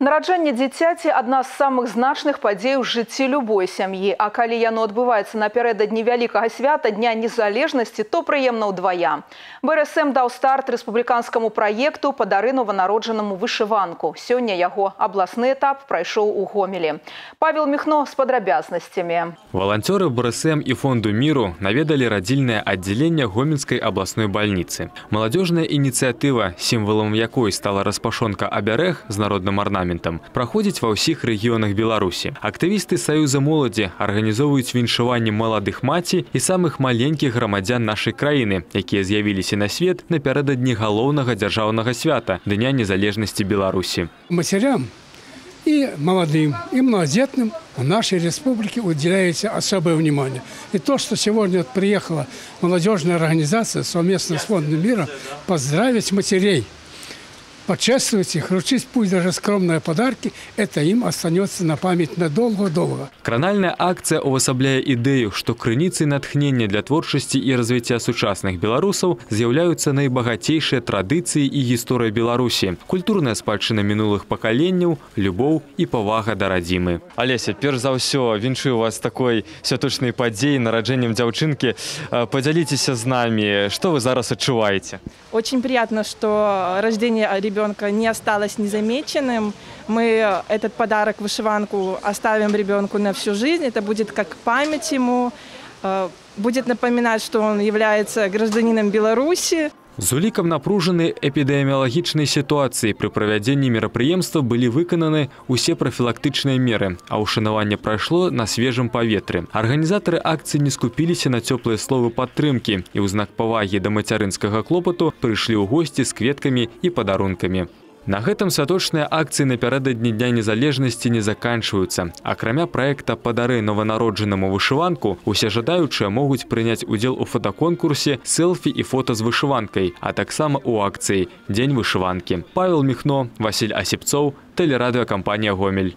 Нараджэнне дзіцяці – одна з самых значных падзей у жыцці любой сям'і. А калі яно адбываецца напярэдадні вялікага свята Дня незалежнасці, то прыемна ўдвая. БРСМ даў старт рэспубліканскаму праекту «Падары нованароджанаму вышыванку». Сёння яго абласны этап прайшоў у Гомелі. Павел Михно з падрабязнасцямі. Волонтеры БРСМ и Фонду миру наведали родильное отделение Гомельской областной больницы. Молодежная инициатива, символом якой стала распашонка оберег с народным орнаментом, проходит во всех регионах Беларуси. Активисты Союза молоді организовывают віншаванне молодых маці и самых маленьких громадян нашей краины, якія з'явіліся на свет напярэдадні галоўнага дзяржаўнага свята – Дня незалежности Беларуси. Матерям и молодым, и многодетным в нашей республике уделяется особое внимание. И то, что сегодня приехала молодежная организация совместно с Фондом мира поздравить матерей, почествовать их, вручить пусть даже скромные подарки, это им останется на память надолго-долго. Кранальная акция увасабляе ідэю, што крыніцай натхнення для творчасці і развіцця сучасных беларусаў з'яўляюцца найбагацейшыя традыцыі і гісторыя Беларусі, культурная спадчына мінулых пакаленняў, любоў і павага да радзімы. Алеся, перш за ўсё, віншую вас такой святочнай падзеі, нараджэннем дзяўчынкі. Подзяліцеся з намі, што вы зараз адчуваеце? Очень приятно, что рождение ребенка не осталось незамеченным. Мы этот подарок, вышиванку, оставим ребенку на всю жизнь. Это будет как память ему, будет напоминать, что он является гражданином Беларуси. З улікам напружанай эпідэміялагічнай сітуацыі пры правядзенні мерапрыемства былі выкананы усе прафілактычныя меры, а ўшанаванне прайшло на свежым паветры. Арганізатары акцыі не скупіліся на цёплыя словы падтрымкі і ў знак павагі да мацярынскага клопату прыйшлі ў госці з кветкамі і падарункамі. На гэтым святочныя акцыі напярэдадні Дня незалежнасці не заканчваюцца. Акрамя праекта «Падары нованароджанаму вышыванку», усе жадаючыя могуць прыняць удзел у фотаконкурсе «Селфі і фото з вышыванкай», а таксама у акцыі «Дзень вышыванкі». Павел Михно, Василь Осипцов, телерадиокомпания «Гомель».